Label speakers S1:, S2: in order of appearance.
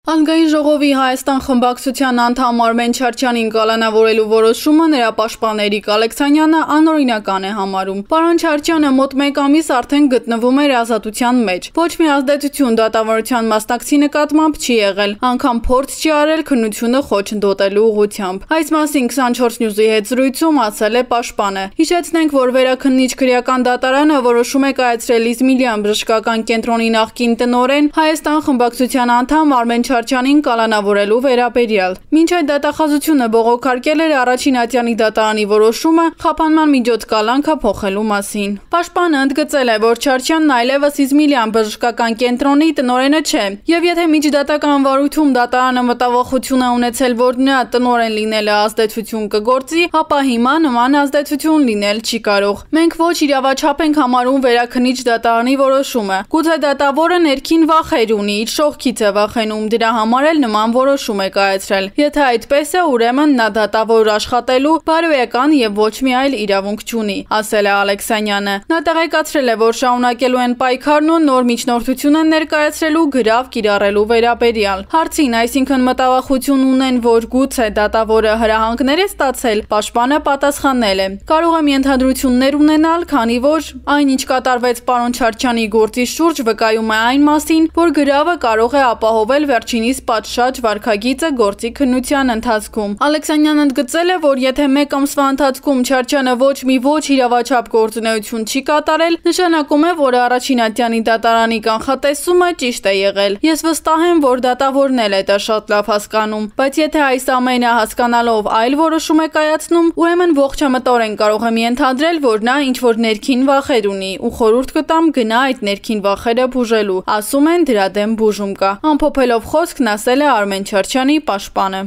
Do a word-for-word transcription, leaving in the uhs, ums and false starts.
S1: Ազգային ժողովի Հայաստան խմբակցության անդամ Արմեն Չարչյանին կալանավորելու որոշումը նրա պաշտպան Էրիկ Ալեքսանյանը անօրինական է համարում։ Պարոն Չարչյանը մոտ մեկ ամիս արդեն գտնվում էր ազատության մեջ։ Ոչ մի ազդեցություն դատավարության մասնակցի նկատմամբ չի եղել, անգամ փորձ չի արել քննությունը խոչընդոտելու ուղղությամբ։ Այս մասին քսանչորս նյուզի հետ զրույցում ասել է պաշտպանը։ Հիշեցնենք, որ վերաքննիչ քրեական դատարանը որոշում է կայացրել Իզմիլյան բժշկական կենտրոնի նախկին տնօրեն Հայաստան խմբակցության անդամ Արմեն Չարչյանին կալանավորելու վերաբերյալ։ Մինչ այդ դատախազությունը բողոքարկել էր առաջին ատյանի դատարանի որոշումը խափանման միջոց կալանքը փոխելու մասին։ Պաշտպանը ընդգծել է, որ Չարչյանն այլևս Իզմիլյան բժշկական կենտրոնի տնօրենը չէ, եւ եթե միջդատական վարույթում դատարանը մտավախություն է ունեցել, որ նրա տնօրեն լինելը ազդեցություն կգործի, ապա հիմա նման ազդեցություն լինել չի կարող։ Մենք ոչ իրավաչափ ենք համարում վերաքննիչ դատարանի որոշումը։ Գուցե դատավորը ներքին վախեր ունի, իր շողքից է վախենում, դրա համար էլ նման որոշում է կայացրել։ Եթե այդպես է, ուրեմն նա դատավոր աշխատելու բարոյական եւ ոչ մի այլ իրավունք չունի, ասել է Ալեքսանյանը։ Նա տեղեկացրել է, որ շարունակելու են պայքարն ու նոր միջնորդություն են ներկայացրելու գրավ կիրառելու վերաբերյալ։ Հարցին, այսինքն մտավախություն ունեն, որ գուցե դատավորը հրահանգներ է ստացել, պաշտպանը պատասխանել է. կարող եմ ենթադրություններ ունենալ, քանի որ այն, ինչ կատարվեց պարոն Չարչյանի գործի շուրջ, վկայում է այն մասին, որ գրավը կարող է ապահովել վերջինիս պատշաճ վարքագիծը գործի քննության ընթացքում։ Ալեքսանյանն ընդգծել է, որ եթե մեկ ամսվա ընթացքում Չարչյանը ոչ մի ոչ իրավաչափ գործունեություն չի կատարել, նշանակում է, որ առաջին ատյանի դատարանի կանխատեսումը ճիշտ է եղել։ Ես վստահ եմ, որ դատավորն էլ է դա շատ լավ հասկանում, բայց եթե այս ամենը հասկանալով այլ որոշում է կայացնում, ուրեմն ողջամտորեն կարող եմ ենթադրել, որ նա ինչ-որ ներքին վախեր ունի ու խորհուրդ կտամ գնա այդ ներքին վախերը բուժելու։ Ասում են, դրա դեմ բուժում կա։ Ամփոփելով խոսքն ասել է Արմեն Չարչյանի պաշտպանը։